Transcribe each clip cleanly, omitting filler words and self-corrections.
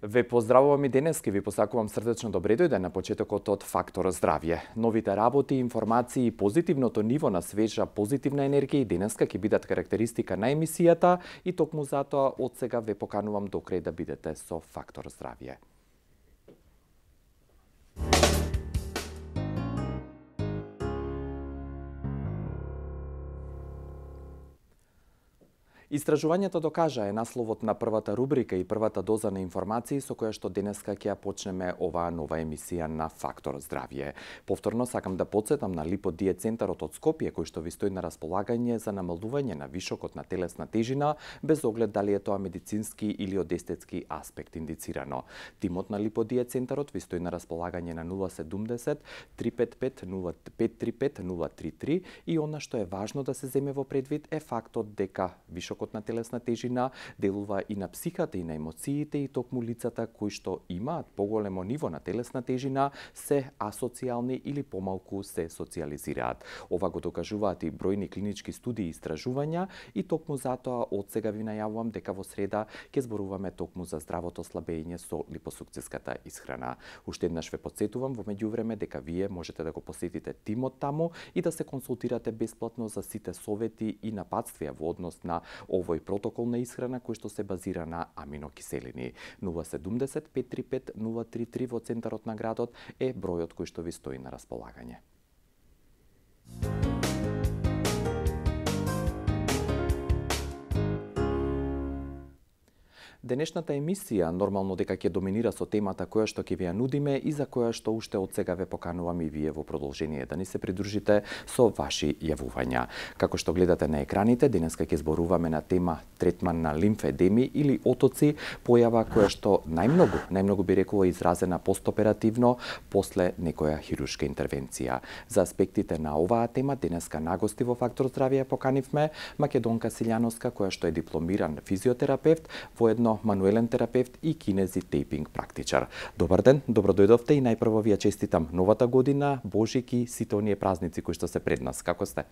Ве поздравувам и денес, ке ви посакувам срдечно добре дојде на почетокот од Фактор здравје. Новите работи, информации и позитивното ниво на свежа позитивна енергија и денеска ќе бидат карактеристика на емисијата и токму затоа од сега ве поканувам до крај да бидете со Фактор здравје. Истражувањето докажа е насловот на првата рубрика и првата доза на информации со која што денеска ќе ја почнеме оваа нова емисија на Фактор здравје. Повторно сакам да потсетам на липодиетцентарот од Скопје кој што ви стои на располагање за намалување на вишокот на телесна тежина без оглед дали е тоа медицински или од естетски аспект индицирано. Тимот на липодиетцентарот ви стои на располагање на 070 355 0535 033 и она што е важно да се земе во предвид е фактот дека вишокот на телесна тежина делува и на психата и на емоциите и токму лицата кои што имаат поголемо ниво на телесна тежина се асоцијални или помалку се социјализираат. Ова го докажуваат и бројни клинички студии и истражувања и токму затоа од сега ви најавувам дека во среда ќе зборуваме токму за здравото слабење со липосукциската исхрана. Уште еднаш ве потсетувам во меѓувреме дека вие можете да го посетите тимот таму и да се консултирате бесплатно за сите совети и напатствија во однос на овој протокол на исхрана кој што се базира на аминокиселини. 070 535 033 во центарот на градот е бројот кој што ви стои на располагање. Денешната емисија нормално дека ќе доминира со темата која што ќе ви ја нудиме и за која што уште од сега ве поканувам и вие во продолжение да ни се придружите со ваши јавувања. Како што гледате на екраните, денеска ќе зборуваме на тема третман на лимфедеми или отоци, појава која што најмногу би рекла изразена постоперативно после некоја хируршка интервенција. За аспектите на оваа тема денеска нагости во Фактор здравје поканивме Македонка Силјановска која што е дипломиран физиотерапевт, воедно мануелен терапевт и кинезитейпинг практичар. Добар ден, добро дојдовте и најпрво ви ја честитам новата година, Божик и сите оние празници кои што се пред нас. Како сте?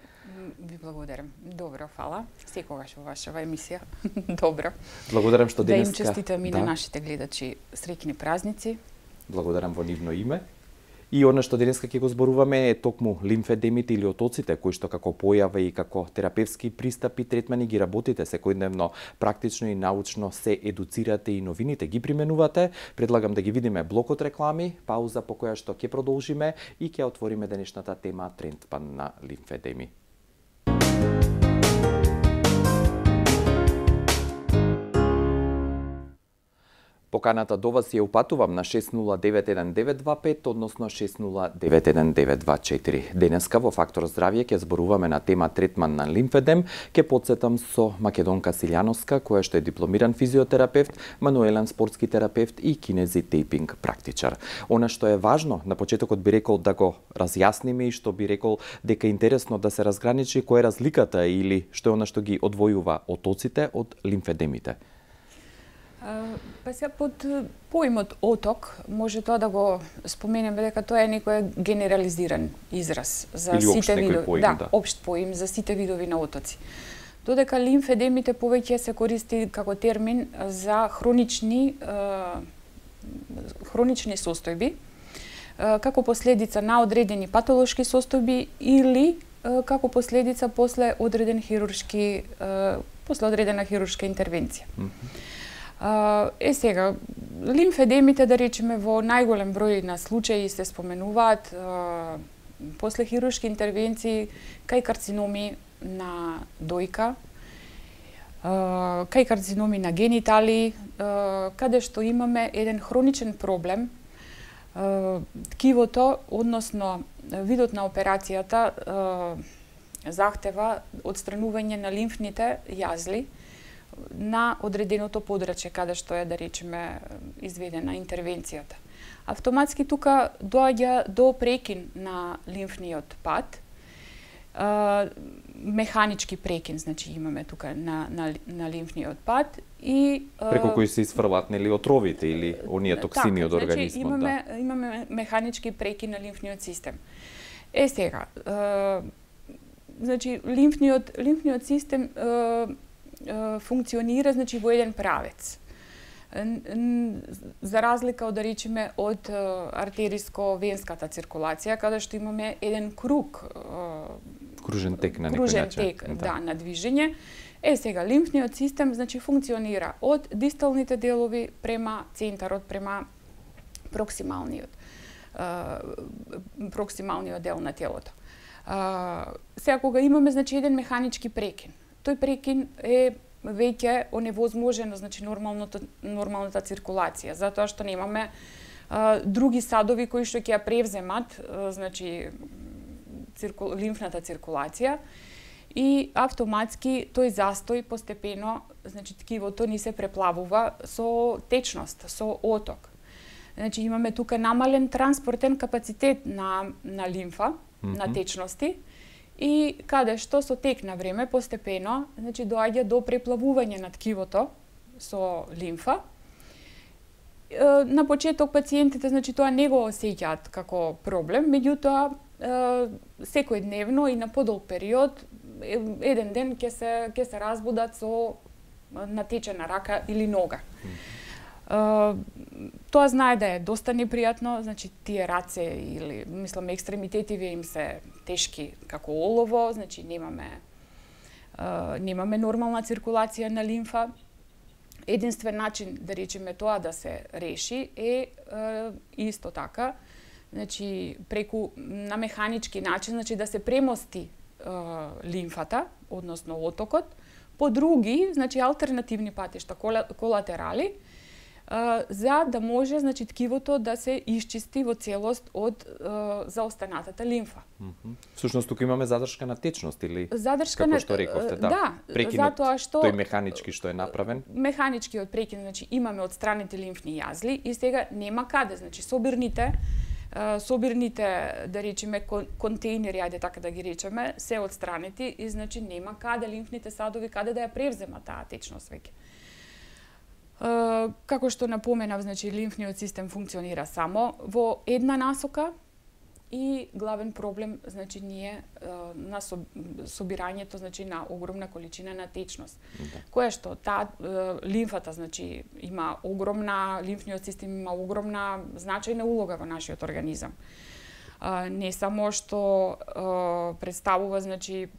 Ви благодарам. Добро, фала. Секогаш во вашава емисија. Добро. Благодарам што денеска. Да им честитам и на нашите гледачи среќни празници. Благодарам во нивно име. И она што денеска ќе го зборуваме е токму лимфедемите или отоците, кои што како појава и како терапевски пристапи, третмани ги работите секојдневно, практично и научно се едуцирате и новините ги применувате. Предлагам да ги видиме блокот реклами, пауза по која што ќе продолжиме и ќе отвориме денешната тема третман на лимфедеми. Поканата до вас ја упатувам на 6091925, односно 6091924. Денеска во Фактор здравје ќе зборуваме на тема третман на лимфедем. Ќе потсетам со Македонка Силјановска, која што е дипломиран физиотерапевт, мануелен спортски терапевт и кинезитейпинг практичар. Она што е важно, на почетокот би рекол да го разјасниме и што би рекол дека е интересно да се разграничи која е разликата или што е она што ги одвојува отоците од лимфедемите. Па сега под поимот оток може тоа да го споменеме дека тоа е некој генерализиран израз за или сите видови, поим, да, општ поим за сите видови на отоци. Додека лимфедемите повеќе се користи како термин за хронични состојби како последица на одредени патолошки состојби или како последица после одредена хируршка интервенција. Сега, лимфедемите, да речеме, во најголем број на случаи се споменуваат после хируршки интервенции кај карциноми на дојка, кај карциноми на генитали, каде што имаме еден хроничен проблем. Ткивото, односно видот на операцијата, захтева отстранување на лимфните јазли на одреденото подрачје каде што е, да речеме, изведена интервенцијата. Автоматски тука доаѓа до прекин на лимфниот пат, механички прекин, значи имаме тука на лимфниот пат и преку кои се изфрлат нели отровите или оние токсини од организмот, значи, имаме механички прекин на лимфниот систем. Сега, значи лимфниот систем функционира, значи, во еден правец. За разлика од, да речеме, од артериско-венската циркулација, каде што имаме еден круг, кружен тек на некој начин. Да, на движење. Сега лимфниот систем значи функционира од дисталните делови према центарот, према проксималниот дел на телото. Сега кога имаме значи еден механички прекин, тој прекин е веќе оневозможено значи нормалната циркулација, затоа што немаме други садови кои што ќе ја превземат значи лимфната циркулација и автоматски тој застој постепено значи ткивото ни се преплавува со течност, со оток. Значи имаме тука намален транспортен капацитет на лимфа, на течности и каде што со тек на време постепено значи доаѓа до преплавување на ткивото со лимфа. На почеток пациентите значи тоа не го осеќаат како проблем, меѓутоа секојдневно и на подолг период еден ден ќе се разбудат со натечена рака или нога. Тоа знае да е доста непријатно, значи тие раце или мислам екстремитетиве им се тешки како олово, значи немаме нормална циркулација на лимфа. Единствен начин да речеме тоа да се реши е исто така, значи преку на механички начин, значи да се премости лимфата, односно отокот, по други, значи алтернативни патишта, колатерали, за да може значи ткивото да се исчисти во целост од заостанатата лимфа. Всушност тука имаме задршка на течност или задршка како што рековте, да, прекинот, затоа што тој механички што е направен. Механичкиот прекин значи имаме од страните лимфни јазли и сега нема каде, значи собирните да речеме контейнери, ајде така да ги речеме, се отстранети и значи нема каде лимфните садови каде да ја превземат таа течност веќе. Како што напоменав, значи лимфниот систем функционира само во една насока и главен проблем значи ние на собирањето значи на огромна количина на течност. Која што таа лимфата значи има лимфниот систем има огромна значајна улога во нашиот организам. Не само што представува значи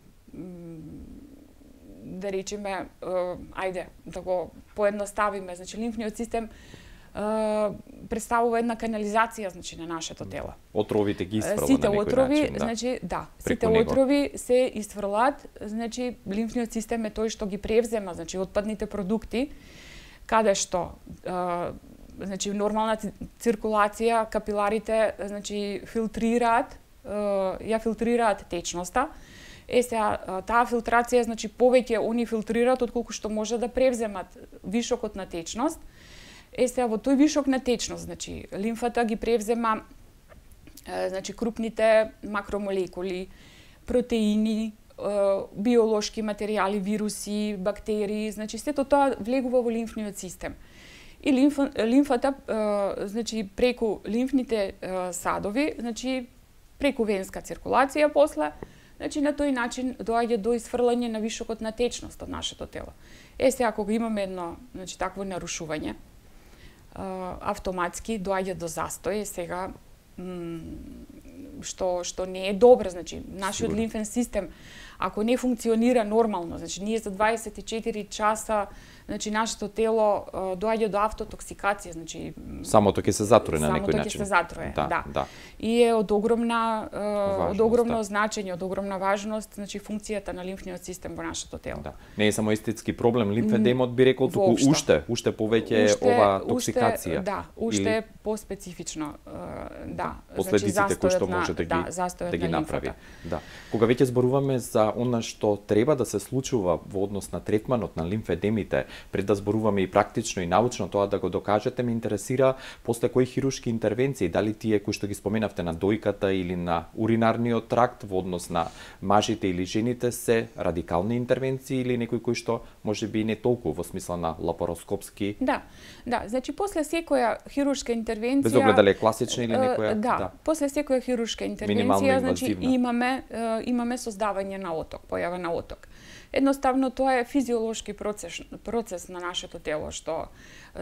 да речеме, ајде да го поедноставиме, значи лимфниот систем представува една канализација значи на нашето тело. Отровите ги испрва сите на некој отрови, начин, да. Значи, да, сите отрови се исфрлаат, значи лимфниот систем е тој што ги превзема, значи отпадните продукти, каде што значи нормална циркулација, капиларите значи ја филтрираат течноста. Сега таа филтрација значи повеќе они филтрираат отколку што може да превземат вишокот на течност. Сега во тој вишок на течност, значи лимфата ги превзема значи крупните макромолекули, протеини, биолошки материјали, вируси, бактерии, значи сето тоа влегува во лимфниот систем. И лимфата значи преку лимфните садови, значи преку венска циркулација после, значи на тој начин доаѓа до исфрлање на вишокот на течност од нашето тело. Сега кога имаме едно значи такво нарушување, автоматски доаѓа до застој, сега што не е добро, значи нашиот лимфен систем ако не функционира нормално, значи ние за 24 часа значи нашето тело доаѓа до автотоксикација, значи самото ќе се затруе на некој начин. Самото ќе се затруе, да. Да. И е од огромно значење, од огромна важност, значи функцијата на лимфниот систем во нашето тело. Да. Не е само естетски проблем, лимфедемот би рекол туку уште повеќе ова токсикација. Да, уште поспецифично, да. Последиците кои што може да ги направи. Да. Кога веќе зборуваме за она што треба да се случува во однос на третманот на лимфедемите, пред да зборуваме и практично и научно тоа да го докажете, ме интересира после кои хируршки интервенции, дали тие кои што ги споменавте на дојката или на уринарниот тракт во однос на мажите или жените се радикални интервенции или некои кои што можеби не толку во смисла на лапароскопски. Да, значи после секоја хируршка интервенција, без оглед дали е класична или некоја, после секоја хируршка интервенција, значи имаме создавање на оток, појава на оток. Едноставно тоа е физиолошки процес на нашето тело, што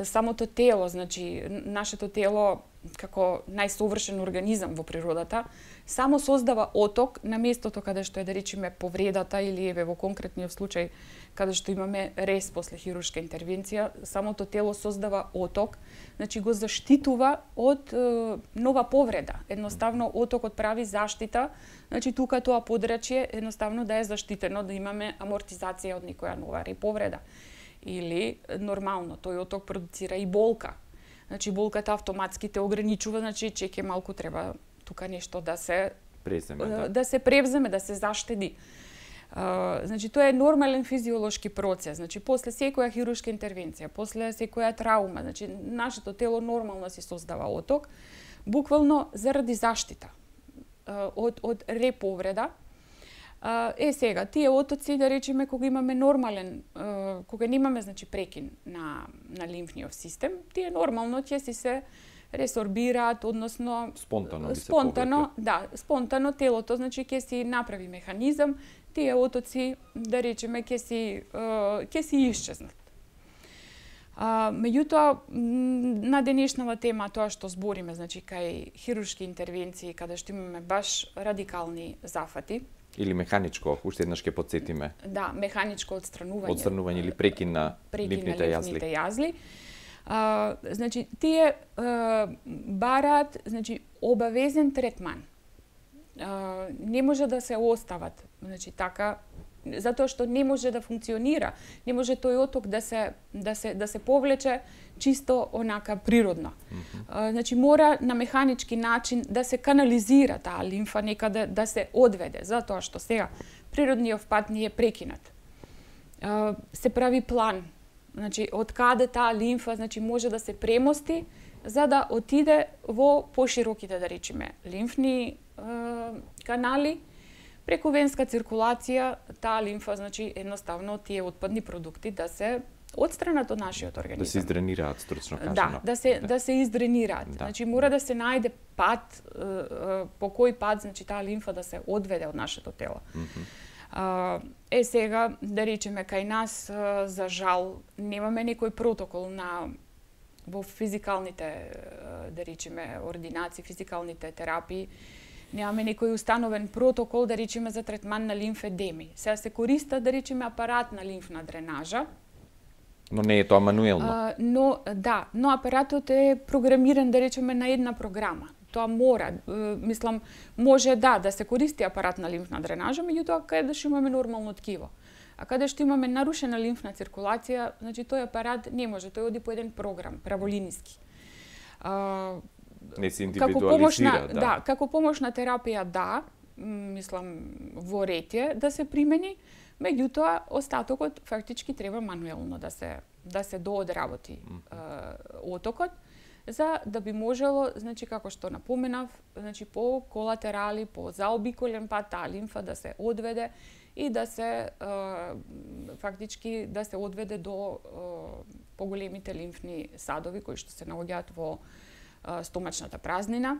самото тело, значи нашето тело како најсовршен организам во природата, само создава оток на местото каде што е, да речеме, повредата или еве во конкретниот случај каде што имаме рез после хируршка интервенција, самото тело создава оток, значи го заштитува од нова повреда. Едноставно отокот прави заштита, значи тука тоа подрачје едноставно да е заштитено, да имаме амортизација од некоја нова повреда. Или нормално тој оток продуцира и болка. Значи болката автоматски те ограничува, значи чеќе малку треба тука нешто да се преземе, да се превземе, да се заштеди. Значи тоа е нормален физиолошки процес. Значи после секоја хируршка интервенција, после секоја травма, значи нашето тело нормално си создава оток, буквално заради заштита од реповреда. Сега, тие отоци, да речеме, кога имаме нормален, кога немаме, значи, прекин на лимфниот систем, тие нормално ќе си се ресорбираат, односно спонтано телото, значи ќе си направи механизам, тие отоци, да речеме, ќе си исчезнат. Меѓутоа, на денешнава тема, тоа што збориме, значи, кај хируршки интервенции, каде што имаме баш радикални зафати, или механичко, уште еднаш ќе потсетиме. Да, механичко отстранување. Отстранување или прекин на лимфните јазли. Значи, тие бараат, значи, обавезен третман. Не може да се остават, значи, така, затоа што не може да функционира, не може тој оток да се повлече чисто онака природно. Значи мора на механички начин да се канализира таа лимфа некаде, да се одведе, затоа што сега природниот пат ни е прекинат. Се прави план, значи од каде таа лимфа, значи може да се премости за да отиде во пошироките, да речеме, лимфни канали. Преку венска циркулација, таа лимфа, значи, едноставно тие отпадни продукти да се отстранат од нашиот организам. Да се издренираат, стручно кажано. Да се издренираат. Да. Значи, мора да се најде пат, по кој пат, значи, таа лимфа да се одведе од нашето тело. Сега, да речеме, кај нас, за жал, немаме некој протокол во физикалните, да речеме, ординации, физикалните терапии, немаме некој установен протокол, да речеме, за третман на лимфедеми. Сега се користат, да речеме, апарат на лимфна дренажа. Но не е тоа мануелно. Но апаратот е програмиран, да речеме, на една програма. Тоа мора, мислам, може да се користи апарат на лимфна дренажа, меѓутоа каде што имаме нормално ткиво. А каде што имаме нарушена лимфна циркулација, значи тој апарат не може, тој оди по еден програм, праволиниски. Не се индивидуализира, да. Како помошна терапија, мислам, во ред е да се примени, меѓутоа остатокот фактички треба мануелно да се доодработи отокот, за да би можело, значи како што напоменав, значи по колатерали, по заобиколен пат таа лимфа да се одведе и да се фактички да се одведе до поголемите лимфни садови кои што се наоѓаат во стомачната празнина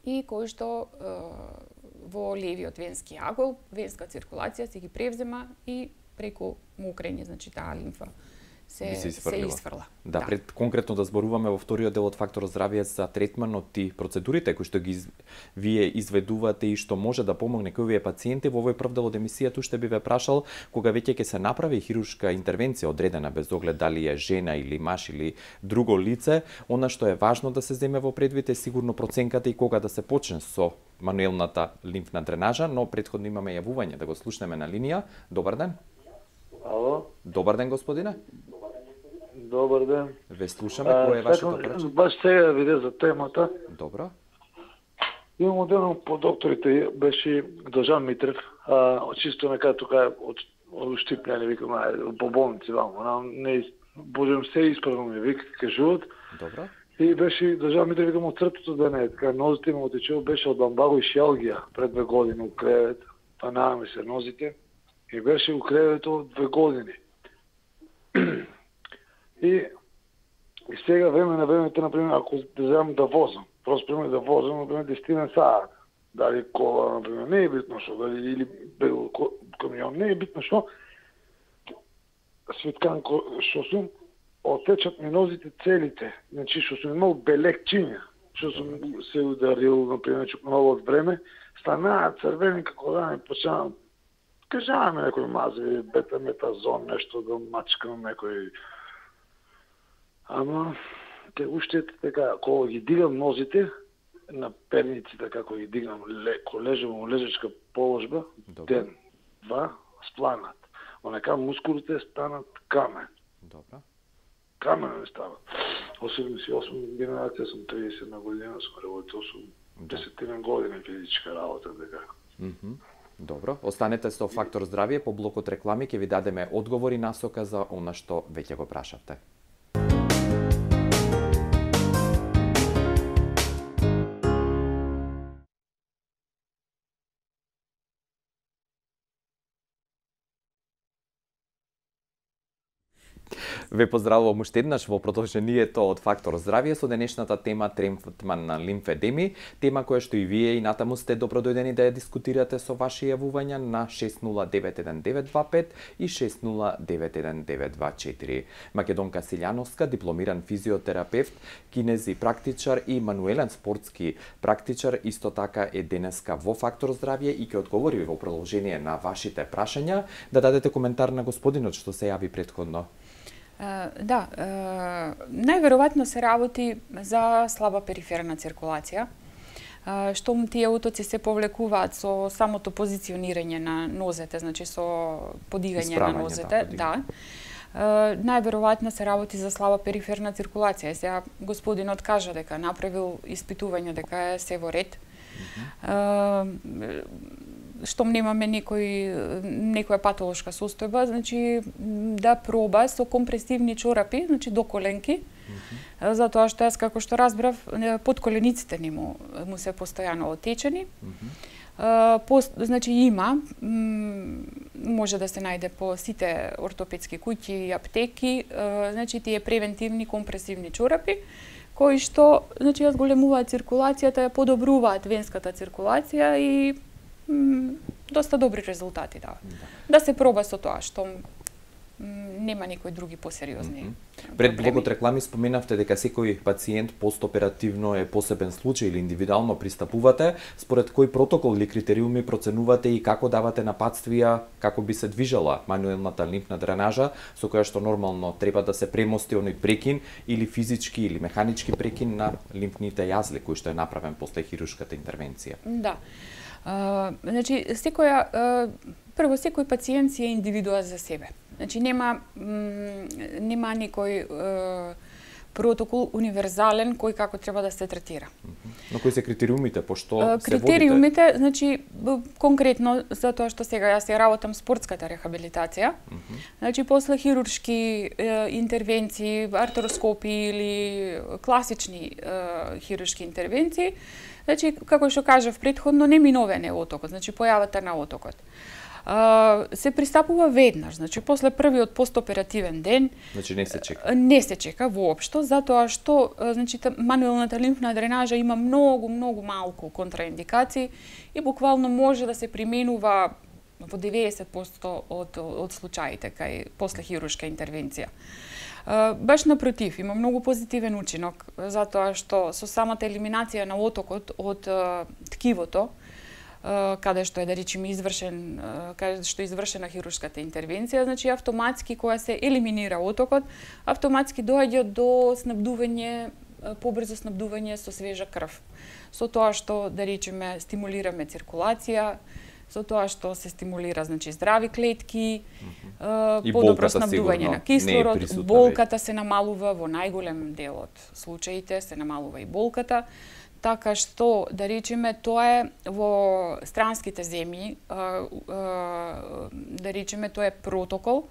и кои што во левиот венски агол, венска циркулација се ги превзема и преку мокрење, значи таа лимфа се изфрла. Да, пред конкретно да зборуваме во вториот дел од Факторот здравје за третманот и процедурите кои што ги вие изведувате и што може да помогне кој овие пациенти, во овој прв дел од емисијата уште би ве прашал кога веќе ќе се направи хируршка интервенција одредена без оглед дали е жена или маж или друго лице, она што е важно да се земе во предвид е сигурно проценката и кога да се почне со мануелната лимфна дренажа, но претходно имаме јавување да го слушнеме на линија. Добар ден. Ало. Добар ден, господине. Добар ден. Ве слушаме, кој е вашето прашање? Баш сега виде за темата. Добро. Имам одеден по докторите, беше Дожан Митрев, чисто нека тука од Штипљани, викам, по болници вамо, не можем се исправно ми вика, кажуват. Добро. И беше Дожан Митрев, викам, од срцето да не е, така нозите му отечува, беше од ламбаго и шиалгија пред 2 години у кревет, па нааме се нозите, и беше у кревето 2 години. И сега време на времето, например, ако дезам да возам, просто пример да возам, например, 10 саат. дали кола, например, не е битно што, дали или бел камион, не е битно што, Светканко, што сум, отечат ми нозите целите, значи што сум имал белекчиња, што сум се ударил, например, много од време, станаа црвени како да не почнаа, кажаваме некој мази, бета-метазон, нешто да мачкам некој. Ама, те уште така, кога ги дигам нозите, на перниците како ги дигам, ко лежам во лежачка положба, ден, два, спланат. Онека мускулите станат камен. Добра. Камен не стават. 88 генерација сум 30 година, сум работил, сум 10 години физичка работа, така. Добро, останете со Фактор здравје, по блокот реклами ќе ви дадеме одговори насока за она што веќе го прашавте. Ве поздравувам уште еднаш во продолжението од Фактор здравје со денешната тема третман на лимфедеми, тема која што и вие и натаму сте добродојдени да ја дискутирате со ваши јавувања на 60919925 и 60919924. Македонка Силјановска, дипломиран физиотерапевт, кинези практичар и мануелен спортски практичар, исто така е денеска во Фактор здравје и ќе одговори во продолжение на вашите прашања. Да дадете коментар на господинот што се јави претходно. Да, најверојатно се работи за слаба периферна циркулација, што тие утоци се повлекуваат со самото позиционирање на нозете, значи со подигање на нозете, да. Најверојатно се работи за слаба периферна циркулација. Сега господинот кажа дека направил испитување дека е се во ред. Штом немаме некоја патолошка состојба, значи да проба со компресивни чорапи, значи до коленки, затоа што јас како што разбрав, подколениците му се постојано отечени. Значи има, може да се најде по сите ортопедски куќи и аптеки, значи тие превентивни компресивни чорапи, кои што, значи, ја зголемуваат циркулацијата, ја подобруваат венската циркулација и доста добри резултати дават. Да се проба со тоа, што нема никои други посериозни. Пред блокот реклами споменавте дека секој пациент постоперативно е посебен случај или индивидуално пристапувате, според кој протокол или критериуми проценувате и како давате напатствија како би се движела мануелната лимфна дренажа, со која што нормално треба да се премости оној прекин или физички или механички прекин на лимфните јазли кој што е направен после хируршката интервенција. Да. Значи, прво, секој пациент си е индивидуа за себе. Значи, нема никој протокол универзален кој како треба да се третира. Но кои се критериумите, пошто се водите? Критериумите, значи, конкретно, за тоа што сега јас ја работам спортската рехабилитација, значи, после хируршки интервенции, артероскопии или класични хируршки интервенции, значи, како што кажав претходно, неминовен е отокот, значи појавата на отокот. Се пристапува веднаш, значи после првиот постоперативен ден. Значи не се чека. Не се чека воопшто, затоа што значи мануелната лимфна дренажа има многу малку контраиндикации и буквално може да се применува во 90% од случаите кај после хируршка интервенција. Баш напротив, има многу позитивен учинок, затоа што со самата елиминација на отокот од ткивото, каде што е, да речеме, каде што е извршена хируршката интервенција, значи автоматски кога се елиминира отокот, автоматски доаѓа до снабдување, побрзо снабдување со свежа крв. Со тоа што, да речеме, стимулираме циркулација, со тоа што се стимулира, значи, здрави клетки, подобро снабдување на кислород, болката се намалува во најголем дел од случаите, се намалува и болката, така што, да речеме, тоа е во странските земји, да речеме, тоа е протокол,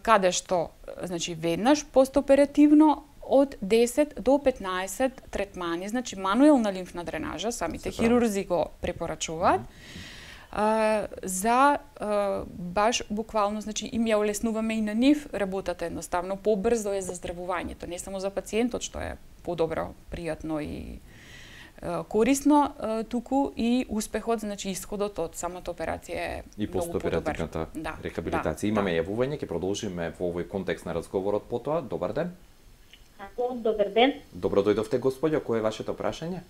каде што, значи, веднаш постоперативно од 10 до 15 третмани, значи, мануелна лимфна дренажа, самите хирурзи го препорачуваат, за баш буквално, значи, им ја олеснуваме и на нив работата едноставно, побрзо е заздравувањето, не само за пациентот, што е подобро, пријатно и корисно, туку и успехот, значи исходот од самата операција е и постоперативната рехабилитација. Имаме јавување, ќе продолжиме во овој контекст на разговорот потоа. Добар ден. Добар ден. Добро дојдовте, господја. Кој е вашето прашање?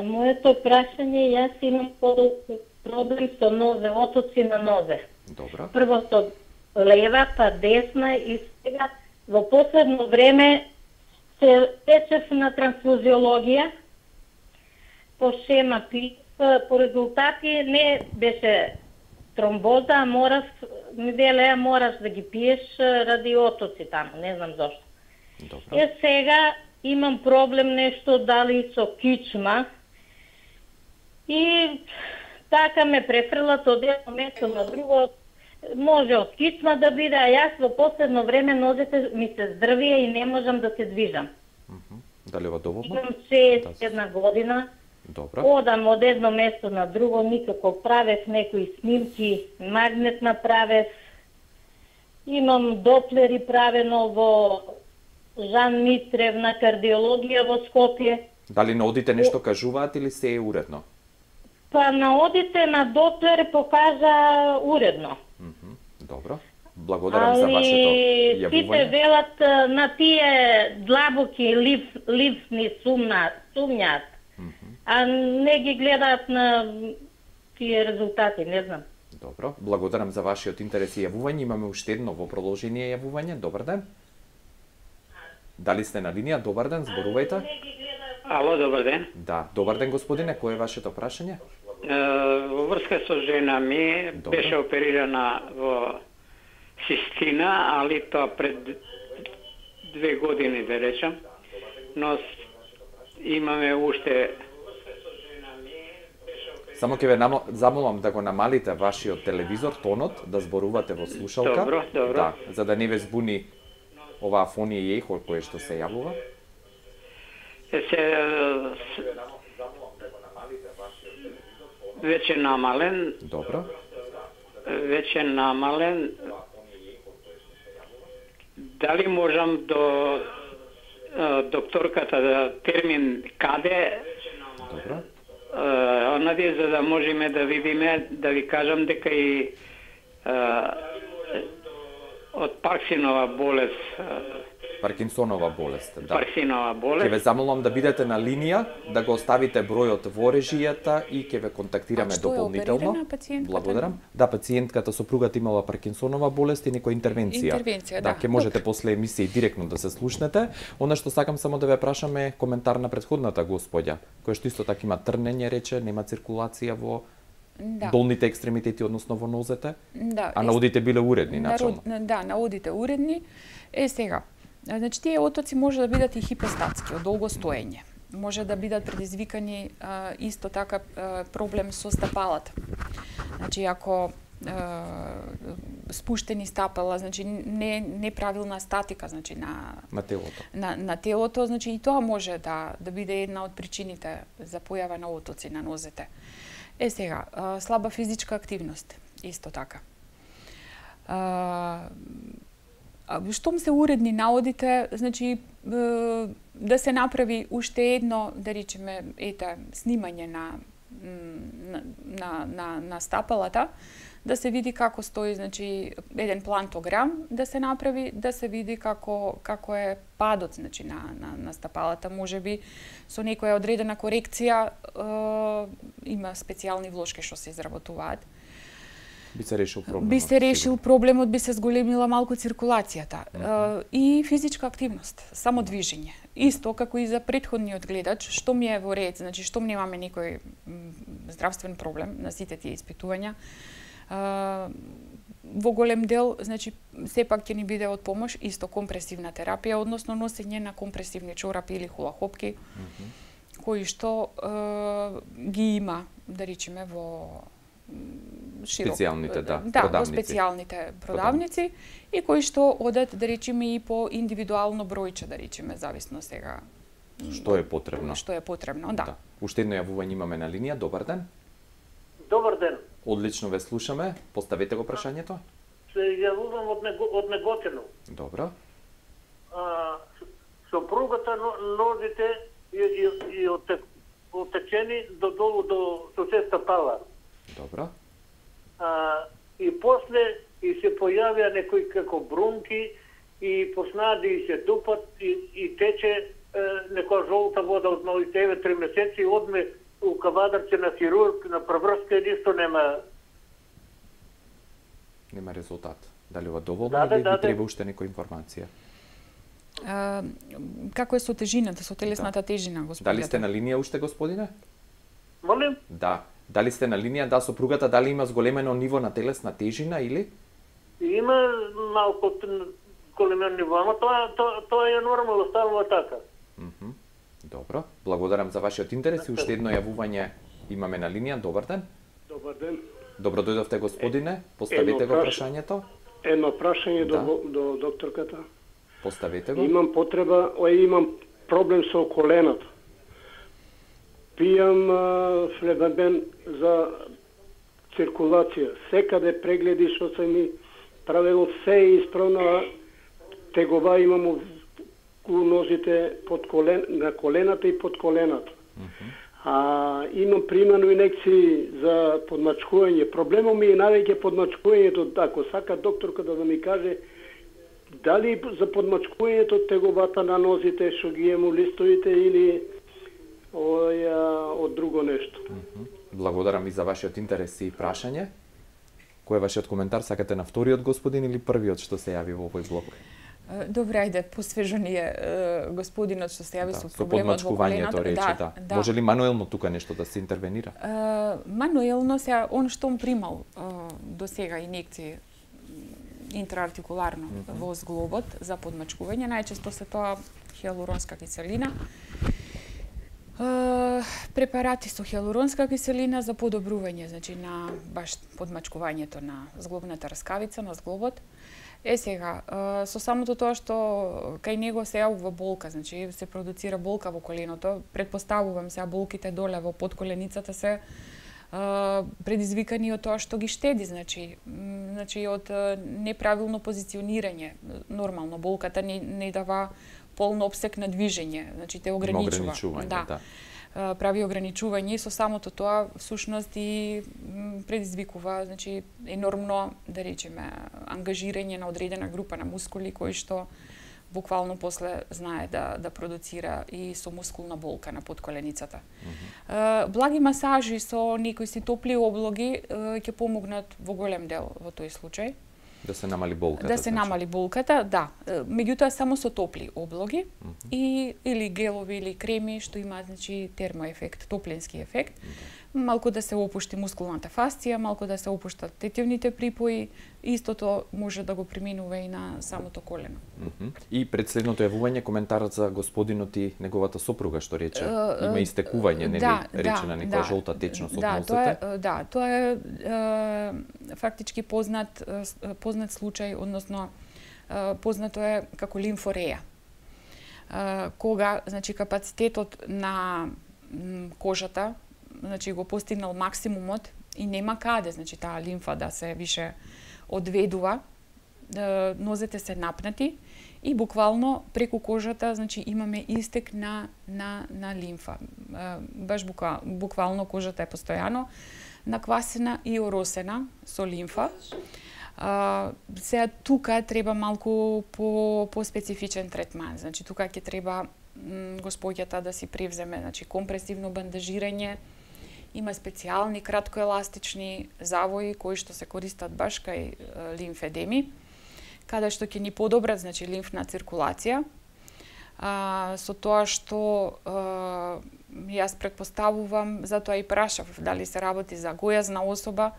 Моето прашање, јас имам проблем со нозе, отоци на нозе. Добро. Прво со лева, па десна и сега во последно време се течев на трансфузиологија по шема ПИП, по резултати не беше тромбоза, мораш да ги пиеш ради отоци таму, не знам зошто. Добро. Сега имам проблем нешто дали со кичма и така ме префрлат од едно место на друго. Може од кичма да биде, а јас во последно време нозете ми се здрвија и не можам да се движам. Дали ова доволно? Имам 61 година. Добро. Одам од едно место на друго, никако правев некои снимки, магнет направев. Имам доплери правено во Жан Митрев на кардиологија во Скопје. Дали на одите нешто кажуваат или се е уредно? Па на одите на доплер покажа уредно. Добро. Благодарам за вашето јавување. Сите велат на тие длабоки ливни сумњаат. А не ги гледаат на тие резултати, не знам. Добро, благодарам за вашиот интерес и јавување. Имаме уште едно во продолжение јавување. Добар ден. Дали сте на линија? Добар ден, зборувајте. Ало, добар ден. Да, добар ден, господине. Кој е вашето прашање? Во врска со жена ми беше оперирана во цистина, али тоа пред 2 години, да речам. Но имаме уште. Само ќе ве замолам да го намалите вашиот телевизор, тонот, да зборувате во слушалка. Добро, добро. Да, за да не ве збуни оваа фонија и ехо кое што се јавува. Веќе намален. Добро. Веќе намален. Дали можам до докторката да термин каде? Добро. Онади, за да можеме да видиме, да ви кажам дека и од Паркинсонова болест. Паркинсонова болест, да. Паркинсонова болест. Ќе ве замолам да бидете на линија, да го оставите бројот во режијата и ќе ве контактираме дополнително. Благодарам. Да, пациентката сопругата имала Паркинсонова болест и некоја интервенција. Интервенција, да. Ќе можете после емисија директно да се слушнете. Она што сакам само да ве прашаме коментар на претходната господја, која што исто така има трнење, рече, нема циркулација во долните екстремитети, односно во нозете. Да. А наодите биле уредни, начално. Да, наодите уредни. Сега, значи тие отоци може да бидат и хипостатски, од долго стоење. Може да бидат предизвикани исто така проблем со стапалата. Значи ако спуштени стапала, значи неправилна статика, значи на телото. На телото, значи и тоа може да биде една од причините за појава на отоци на нозете. Сега, слаба физичка активност, исто така. Штом се уредни наодите, значи да се направи уште едно, да речеме, снимање на стапалата, да се види како стои, значи еден плантограм да се направи, да се види како е падот, значи на стапалата, можеби со некоја одредена корекција, има специјални влошки што се изработуваат. Би се решил проблемот. Би се решил проблемот, би се зголемила малку циркулацијата. И физичка активност, само движење. Исто како и за претходниот гледач, што ми е во ред, значи што немаме некој здравствен проблем на сите тие испитувања, во голем дел, значи сепак ќе ни биде од помош исто компресивна терапија, односно носење на компресивни чорапи или хулахопки, кои што ги има, да речеме, во специјалните, во специјалните продавници и кои што одат, да речеме, и по индивидуално бројче, да речеме, зависно сега што е потребно. Што е потребно, да. Уште едно јавување имаме на линија. Добар ден. Добар ден. Одлично ве слушаме. Поставете го прашањето. Се јавувам од Неготино. Добро. Сопругата нозите и од отечени до долу до соседска пала. Добро. И после и се појавија некои како брунки и почнаа да и се дупат и тече некоја жолта вода од малите 3 месеци, одме у кавадарце на хирург, на преврска и ништо нема. Нема резултат. Дали ова доволно или ви треба уште некоја информација? Како е со тежината, со телесната тежина, господине? Дали сте на линија уште, господине? Молим? Да. Дали сте на линија, да, сопругата дали има зголемено ниво на телесна тежина или? Има малку големено ниво, ама тоа е нормално, станува така. Добро. Благодарам за вашиот интерес и уште едно јавување имаме на линија. Добар ден. Добар ден. Добро дојдовте, господине. Поставете го прашањето. Едно прашање до докторката. Поставете го. Имам потреба, имам проблем со колената. Пијам флебен за циркулација. Секаде прегледи што се ми правило, се е исправно, тегова имам у нозите на колената и под колената. Имам примано инекции за подмачкување. Проблемот ми е највеќе подмачкувањето, ако сака докторката да ми каже дали за подмачкувањето теговата на нозите што ги имам листовите или од друго нешто. Благодарам ви за вашиот интерес и прашање. Кој е вашиот коментар? Сакате на вториот господин или првиот што се јави во овој блок? Добре, ајде, посвежо ни е господинот што се јави со проблемот во колената. Со подмачкувањето рече, да. Може ли мануелно тука нешто да се интервенира? Мануелно се он што примал до сега инекции интраартикуларно во зглобот за подмачкување, најчесто се тоа хиалуронска киселина. Препарати со хиалуронска киселина за подобрување, значи на баш подмачкувањето на зглобната раскавица, на зглобот. Сега, со самото тоа што кај него се јавува болка, значи се продуцира болка во коленото, предпоставувам сега болките доле во подколеницата се предизвикани од тоа што ги штеди, значи од неправилно позиционирање. Нормално болката не дава полно обсек на движење, значи те ограничува. Да. Прави ограничување и со самото тоа всушност и предизвикува, значи енормно, да речеме, ангажирање на одредена група на мускули кои што буквално после знае да продуцира и со мускулна болка на подколеницата. Благи масажи со некои си топли облоги ќе помогнат во голем дел во тој случај. Да се намали болката. Да се намали болката, да. Меѓутоа само со топли облоги или гелови или креми што имаат, значи, термоефект, топлински ефект. Малку да се опушти мускулната фасција, малку да се опуштат тетивните припои, истото може да го преминува и на самото колено. И пред следното јавување коментарот за господинот и неговата сопруга што рече има истекување, нели, речена некоја жолта течност од нозете. Тоа е фактички познат случај, односно познато е како лимфореја. Кога, значи, капацитетот на кожата, значи, го постигнал максимумот и нема каде, значи, таа лимфа да се више одведува, нозете се напнати и буквално преку кожата, значи, имаме истек на лимфа. Баш буквално кожата е постојано наквасена и оросена со лимфа. Сега тука треба малку по специфичен третман. Значи, тука ќе треба господјата да си превземе, значи, компресивно бандажирање. Има специјални краткоеластични завои кои што се користат баш кај лимфедеми, каде што ќе ни подобрат, значи, лимфна циркулација. Со тоа што јас предпоставувам, затоа и прашав дали се работи за гојазна особа,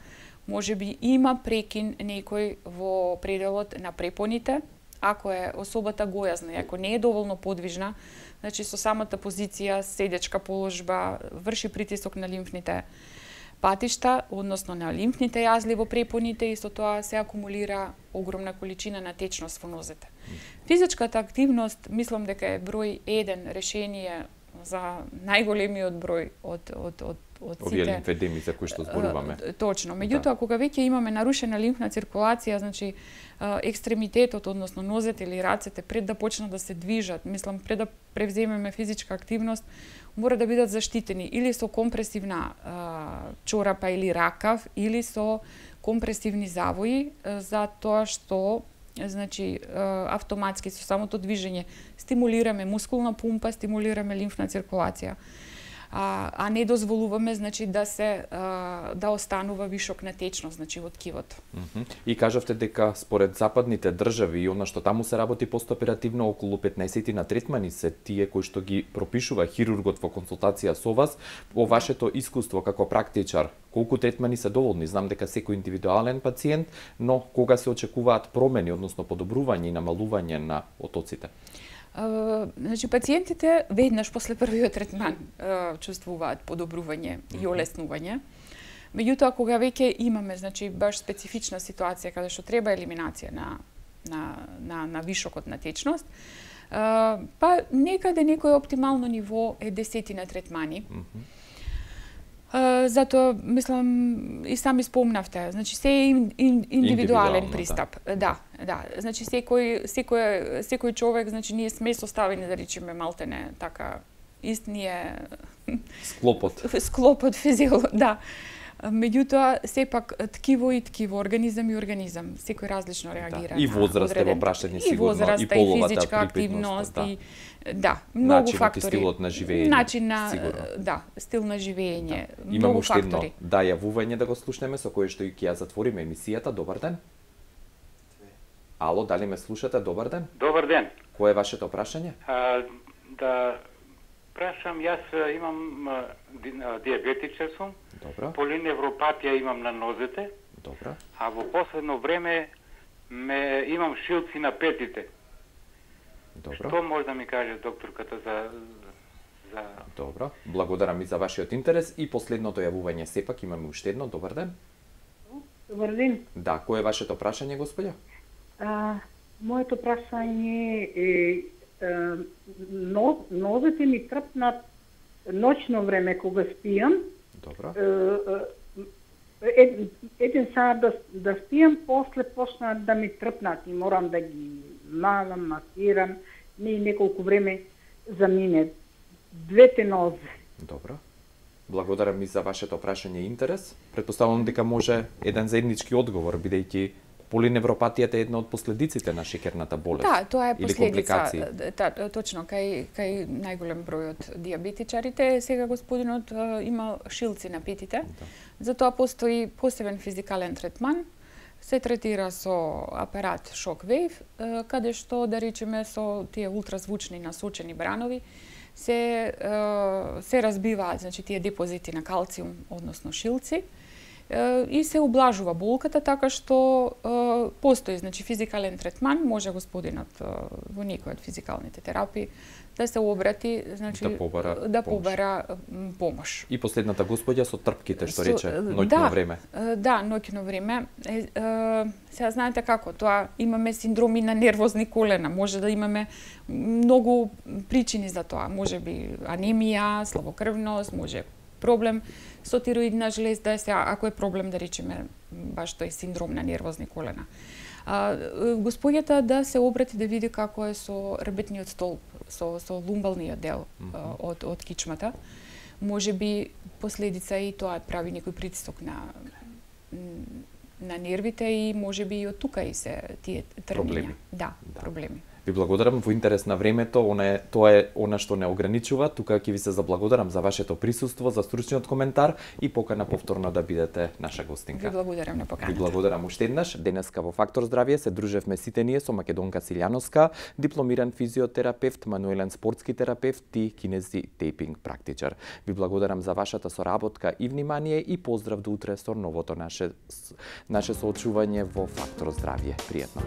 може би има прекин некој во пределот на препоните, ако е особата гојазна, ако не е доволно подвижна, значи со самата позиција, седечка положба, врши притисок на лимфните патишта, односно на лимфните јазли во препоните и со тоа се акумулира огромна количина на течност во нозете. Физичката активност, мислам дека е број 1 решение за најголемиот број од овие лимфедеми за кои што зборуваме. Точно. Меѓутоа, кога веќе имаме нарушена лимфна циркулација, значи екстремитетот, односно нозете или рацете, пред да почнат да се движат, мислам, пред да превземеме физичка активност, мора да бидат заштитени или со компресивна чорапа или ракав, или со компресивни завои, за тоа што значи автоматски со самото движење стимулираме мускулна пумпа, стимулираме лимфна циркулација. А не дозволуваме значи да останува вишок на течност значи во ткивото. И кажавте дека според западните држави и она што таму се работи постоперативно, околу 15 на третмани се тие кои што ги пропишува хирургот во консултација со вас. Во вашето искуство како практичар, колку третмани се доволни? Знам дека секој индивидуален пациент, но кога се очекуваат промени, односно подобрување и намалување на отоците? Значи, пациентите веднаш после првиот третман чувствуваат подобрување и олеснување. Меѓутоа, кога веќе имаме значи, баш специфична ситуација каде што треба елиминација на вишокот на течност, па некаде некој оптимално ниво е 10 третмани. Затоа, мислам, и сами спомнавте, значи се е индивидуален пристап. Да. Значи секој човек, значи ние сме составени да речеме малтене така истније склопот да. Меѓутоа сепак ткиво и ткиво, организам и организам, секој различно реагира. И возраст е во прашање сигурно, и половата физичка активност и многу фактори. Начинот и стилот на живење. Стил на живење, многу фактори. Јавување да го слушнеме со кое што и ќе ја затвориме емисијата. Добар ден. Ало, дали ме слушате? Добар ден. Добар ден. Кое е вашето прашање? Да прашам, јас имам диабетичар сум. Добра. Полиневропатија имам на нозете. Добра. А во последно време имам шилци на петите. Добро. Што може да ми каже докторката за Добро. Благодарам и за вашиот интерес и последното јавување сепак имаме уште едно. Добар ден. Добар ден. Да, кое е вашето прашање, господја? Моето прашање е нозете ми трпнат ноќно време кога спијам. Добро. Еден саат да спијам, после почнат да ми трпнат и морам да ги малам, масирам, неколку време замине. Двете нозе. Добро. Благодарам и за вашето прашање и интерес. Претпоставувам дека може еден заеднички одговор, бидејќи полиневропатијата е една од последиците на шеќерната болест. Да, тоа е последица. Точно, кај најголем број од диабетичарите, сега господинот има шилци на петите. Затоа постои посебен физикален третман. Се третира со апарат Shockwave, каде што, да речеме, со тие ултразвучни насочени бранови се разбиваат, значи тие депозити на калциум, односно шилци, и се облажува болката така што постои значи физикален третман, може господинот во некој од физикалните терапии да се обрати, значи да побара помош. И последната господја со трпките што рече ноќно време. Да, ноќно време. Сега знаете како, тоа имаме синдроми на нервозни колена, може да имаме многу причини за тоа, можеби анемија, слабокрвност, може проблем со тироидна жлезда, ако е проблем да речеме баш тој синдром на нервозни колена. Господјата да се обрати да види како е со ребетниот столб, со лумбалниот дел од кичмата. Може би последица и тоа прави некој притисок на нервите и може би и од тука и се тие трпнења. Да, проблеми. Ви благодарам во интерес на времето, тоа е она што не ограничува. Тука ќе ви се заблагодарам за вашето присуство, за стручниот коментар и покана повторно да бидете наша гостинка. Ви благодарам на поканата. Ви благодарам уште еднаш. Денеска во Фактор здравје се дружевме сите ние со Македонка Силјановска, дипломиран физиотерапевт, мануелен спортски терапевт и кинези тейпинг практичар. Ви благодарам за вашата соработка и внимание и поздрав до утре со новото наше соочување во Фактор здравје. Пријатно.